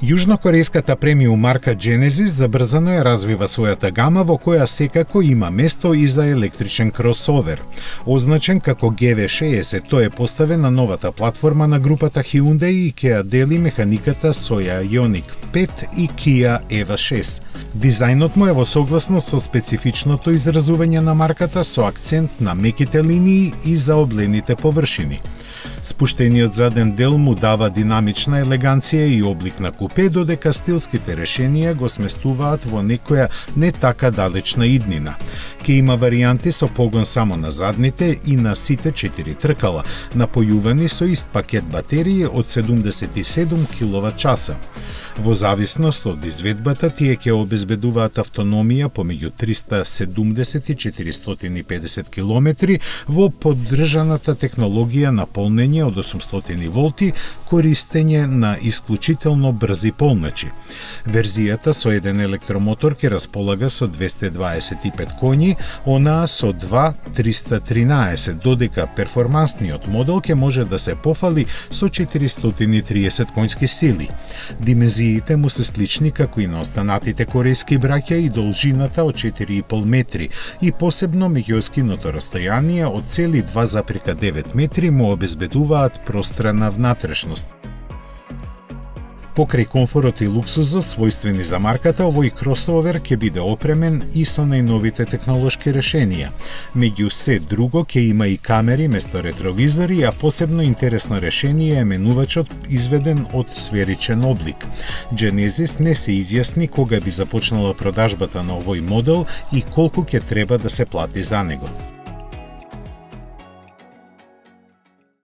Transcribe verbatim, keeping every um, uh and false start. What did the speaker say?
Јужнокорејската премиум марка Genesis забрзано ја развива својата гама во која секако има место и за електричен кросовер. Означен како Г В шеесет, тој е поставен на новата платформа на групата Hyundai и ќе ја дели механиката со Ioniq пет и Kia E V A шест. Дизајнот му е во согласност со специфичното изразување на марката со акцент на меките линии и заоблените површини. Спуштениот заден дел му дава динамична елеганција и облик на купе, додека стилските решенија го сместуваат во некоја не така далечна иднина. Ке има варијанти со погон само на задните и на сите четири тркала, напојувани со ист пакет батерии од седумдесет и седум киловат часа. Во зависност од изведбата, тие ќе обезбедуваат автономија помеѓу триста седумдесет и четиристотини и педесет километри во поддржаната технологија на полнење од осумстотини волти, користење на исклучително брзи полначи. Верзијата со еден електромотор ќе располага со двесте дваесет и пет коњи, онаа со два триста тринаесет, додека перформансниот модел ќе може да се пофали со четиристотини и триесет коњски сили. Димензиите му се слични како и на останатите корејски браќа и должината од четири и пол метри и посебно меѓуоскиното растојание од цели два запирка девет метри му обезбедуваат пространа внатрешност. Покрај комфорот и луксузот својствени за марката, овој кросовер ќе биде опремен и со најновите технолошки решенија. Меѓу се друго ќе има и камери место ретровизори, а посебно интересно решение е менувачот изведен од сферичен облик. Genesis не се изјасни кога би започнала продажбата на овој модел и колку ќе треба да се плати за него.